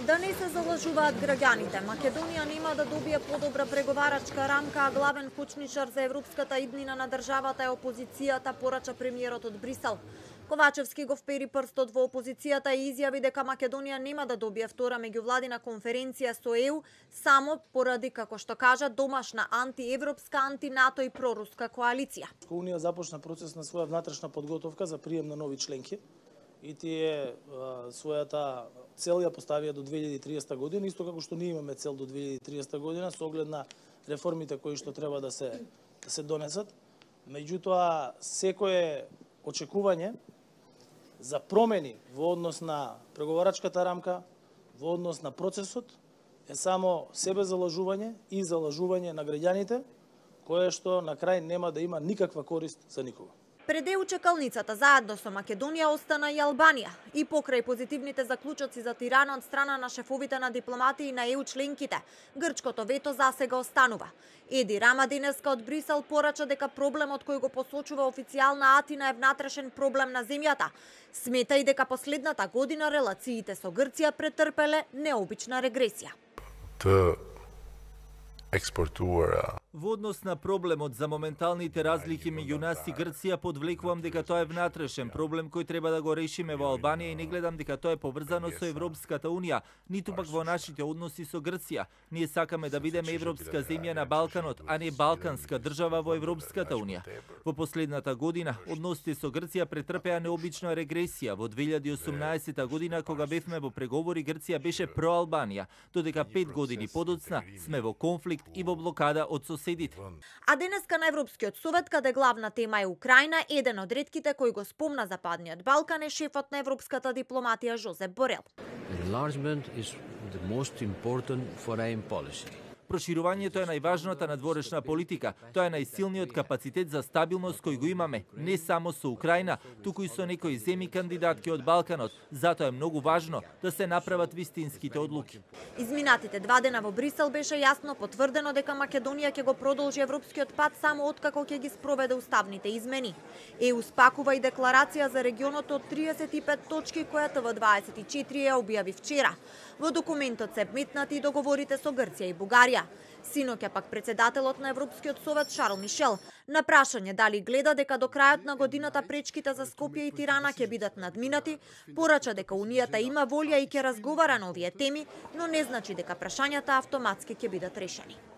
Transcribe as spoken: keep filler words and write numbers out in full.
Да не се залажуваат граѓаните, Македонија нема да добие подобра преговарачка рамка, а главен кочничар за европската иднина на државата е опозицијата, порача премиерот од Брисел. Ковачевски го впери прстот во опозицијата и изјави дека Македонија нема да добие втора меѓувладина конференција со Е У само поради, како што кажа, домашна антиевропска, антинато и проруска коалиција. Унија започна процес на своја внатрешна подготовка за прием на нови членки и тие а, својата цел ја поставија до две илјади и триесета година, исто како што ние имаме цел до две илјади и триесета година со оглед на реформите кои што треба да се да се донесат. Меѓутоа, секое очекување за промени во однос на преговарачката рамка, во однос на процесот, е само себе залажување и залажување на граѓаните, кое што на крај нема да има никаква корист за никого. Пред Е У чекалницата заедно со Македонија остана и Албанија. И покрај позитивните заклучоци за Тирана од страна на шефовите на дипломатии на Е У членките, грчкото вето засега останува. Еди Рама денеска од Брисел порача дека проблемот кој го посочува официјална Атина е внатрешен проблем на земјата. Смета и дека последната година релациите со Грција претрпеле необична регресија. Експортуара. Во однос на проблемот за моменталните разлики меѓу нас и Грција, подвлекувам дека тоа е внатрешен проблем кој треба да го решиме во Албанија и не гледам дека тоа е поврзано со Европската унија, ниту пак во нашите односи со Грција. Ние сакаме да бидеме европска земја на Балканот, а не балканска држава во Европската унија. Во последната година односите со Грција претрпеа необична регресија. Во две илјади и осумнаесета година кога бевме во преговори, Грција беше про Албанија, додека пет години подоцна сме во конфликт и во блокада од соседите. А денеска на Европскиот совет, каде главна тема е Украина, еден од ретките кој го спомна Западниот Балкан е шефот на европската дипломатија Жозеп Борел. Enlargement is the most important foreign policy. Проширувањето е најважната надворешна политика. Тоа е најсилниот капацитет за стабилност кој го имаме, не само со Украина, туку и со некои земји кандидатки од Балканот. Затоа е многу важно да се направат вистинските одлуки. Изминатите два дена во Брисел беше јасно потврдено дека Македонија ќе го продолжи европскиот пат само откако ќе ги спроведе уставните измени. Е У спакува и декларација за регионот од триесет и пет точки која Т В дваесет и четири ја објави вчера. Во документот се вметнати и договорите со Грција и Бугарија. Синоќа пак председателот на Европскиот совет Шарл Мишел на прашање дали гледа дека до крајот на годината пречките за Скопје и Тирана ќе бидат надминати, порача дека Унијата има волја и ќе разговара на овие теми, но не значи дека прашањата автоматски ќе бидат решени.